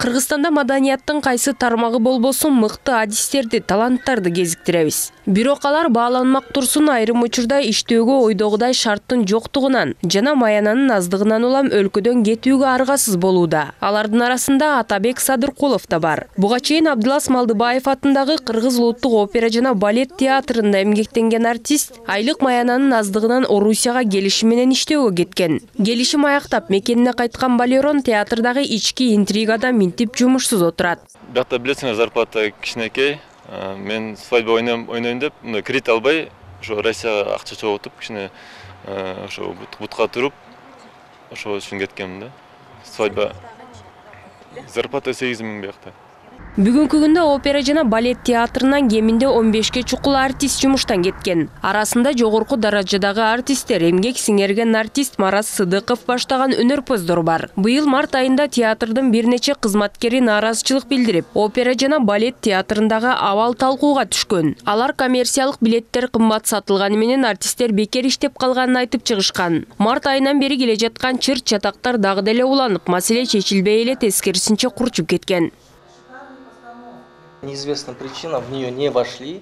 Кыргызстанда маданияттын кайсы тармагы болбосун мыкты адистерди, таланттарды кезиктиребиз. Бирок алар бааланмак турсун айрым учурда иштөөгө ойдогудай шарттын жоктугунан жана маянанын аздыгынан улам өлкөдөн кетүүгө аргасыз болууда. Алардын арасында Атабек Садыркулов да бар. Буга чейин Абдылас Малдыбаев атындагы Кыргыз улуттук опера жана балет театрында эмгектенген артист айлык маянанын аздыгынан Орусияга келиши менен иштөөгө кеткен. Келишим аяктап мекенине кайткан балерон театрдагы ички интригада минтип жумушсуз отурат. Бияқта билесиңер, зарплата кичинекей. Мен свадьба ойнойм деп, кредит албай, ошо Россияга акча чогултуп, кичине ошо бутка туруп, ошо үчүн кеткенмин да. Свадьба зарплата 8 000 бияқта. Бүгүнкү күндө опера жана балет театрынан кеминде 15 чукул артист жумуштан кеткен. Арасында жогорку даражадагы артисттер, эмгек сиңерген артист Марас Сыдыков баштаган өнөрпөздөр бар. Быйыл март айында театрдын бир нече кызматкери нааразычылык билдирип, опера жана балет театрындагы абал талкууга түшкөн. Алар коммерциялык билеттер кымбат сатылганы менен артисттер бекер иштеп калганын айтып чыгышкан. Март айынан бери келе жаткан чырт чатактар дагы деле уланып, маселе чечилбей эле тескерисинче курчуп кеткен. Неизвестная причина, в нее не вошли.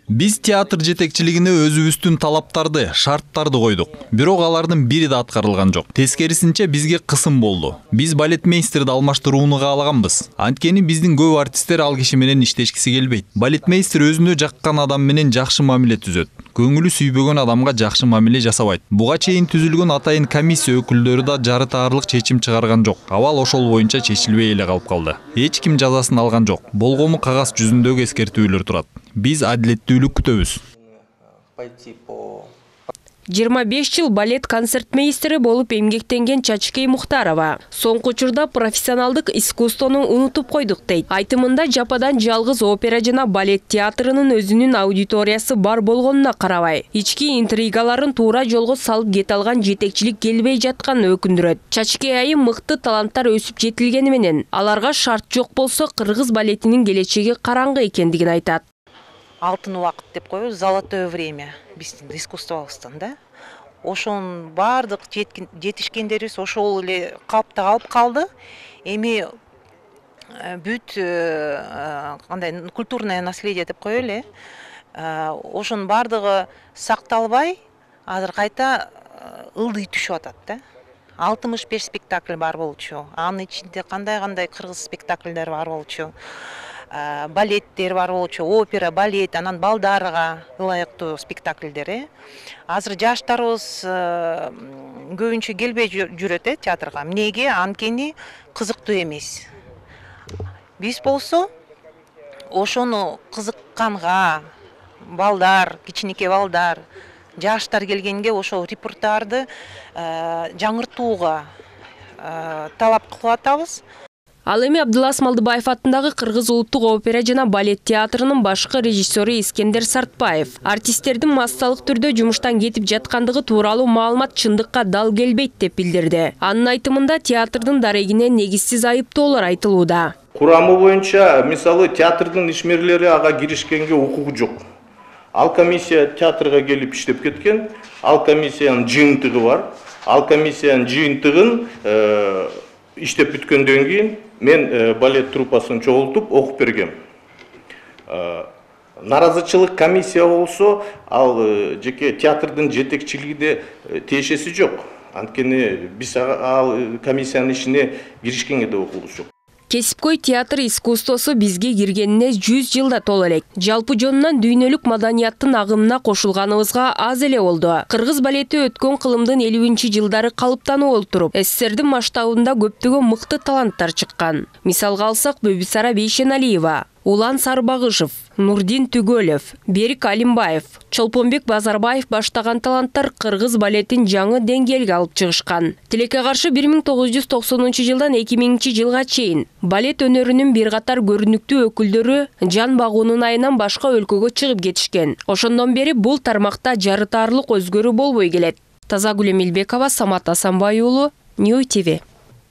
Биз театр жетекчилигине өзүбүздүн талаптарды, шарттарды койдук. Бирок алардын бири да аткарылган жок. Тескерисинче бизге кысым болду. Биз балетмейстерди алмаштырууну каалаганбыз. Анткени биздин көп артисттер ал киши менен иштешкиси келбейт. Балетмейстер өзүнө жаккан адам менен жакшы мамиле түзөт. Көңүлү сүйбөгөн адамга жакшы мамиле жасабайт. Буга чейин түзүлгөн атайын комиссия өкүлдөрү да жарытаарлык чечим чыгарган жок. Абал ошол боюнча чечилбей эле калып калды. Эч ким жазасын алган жок. Болгону кагаз жүзүндөгү эскертүүлөр турат. Биз адилеттүүлүк күтөбүз. 25 жыл балет концертмейстери болуп эмгектенген Чачкей Мухтарова соңку учурда профессионалдык искусствону унутуп койдук дейт. Айтымында жападан жалгыз опера жана балет театрынын өзүнүн аудиториясы бар болгонуна карабай, ички интригаларын туура жолго салып кете алган жетекчилик келбей жатканын өкүндүрөт. Чачкей айым мыкты таланттар өсүп жетилгени менен аларга шарт жок болсо кыргыз балетинин келечеги караңгы экендигин айтат. Алтын убакыт деп коебуз, золотое время биздин искусствобуздун да. Ошонун бардык жетишкендерибиз ошол эле калыпта калып калды. Эми бүт кандай культурное наследие деп коелу. Ошонун бардыгы сакталбай, азыр кайта ылдый түшүп атат да. 65 спектакль бар болчу. Анын ичинде кандай кыргыз спектакльдер бар болчу. Балеттер бар болчу, опера, балет, анан балдарга ылайыктуу спектакльдер. Азыр жаштарыбыз көбүнчө келбей жүрөт театрга. Эмнеге? Анткени кызыктуу эмес. Биз болсо ошону кызыкканга балдар, кичинекей балдар, жаштар келгенге ошол репертуарды жаңыртууга талап кылып атабыз. Ал эми Абдылас Малдыбаев атындагы Кыргыз улуттук опера жана балет театрынын башкы режиссеру Искендер Сартбаев артисттердин массалык түрдө жумуштан кетип жаткандыгы тууралуу маалымат чындыкка дал келбейт деп билдирди. Анын айтымында театрдын дарегине негизсиз айыптоолор айтылууда. Курамы боюнча, мисалы, театрдын ишмерлери ага киришкенге укугу жок. Ал комиссия театрга келип иштеп кеткен, ал комиссиянын жыйынтыгы бар. Ал комиссиянын жыйынтыгын иштеп бүткөндөн кийин мен балет труппасын чогултуп окуп бергем. Наразычылык комиссия болсо, ал жеке театрдын жетекчилигиде тиешеси жок. Анткени биз ал комиссиянын ишине киришкенге да укугубуз жок. Кесипкөй театр искусствосу бизге киргенине 100 жылда толо элек. Жалпы жонунан дүйнөлүк маданияттын агымына кошулганыбызга аз эле болду. Кыргыз балети өткөн кылымдын 50-жылдары калыптанып олтуруп, СССРдин масштабында көптөгөн мыкты таланттар чыккан. Мисалга алсак, Бөбүсара Бейшеналиева, Улан Сарбагышев, Нурдин Түгөлев, Берик Алимбаев, Чолпонбек Базарбаев баштаган таланттар кыргыз балетин жаңы деңгээлге алып чыгышкан. Тилекке каршы 1990-жылдан 2000-жылга чейин балет өнөрүнүн бир катар көрүнүктүү өкүлдөрү жан багуунун айынан башка өлкөгө чыгып кетишкен. Ошондон бери бул тармакта жарытаарлык өзгөрүү болбой келет. Тазагүл Эмилбекова, Самат Асанбай уулу, Нью ТВ.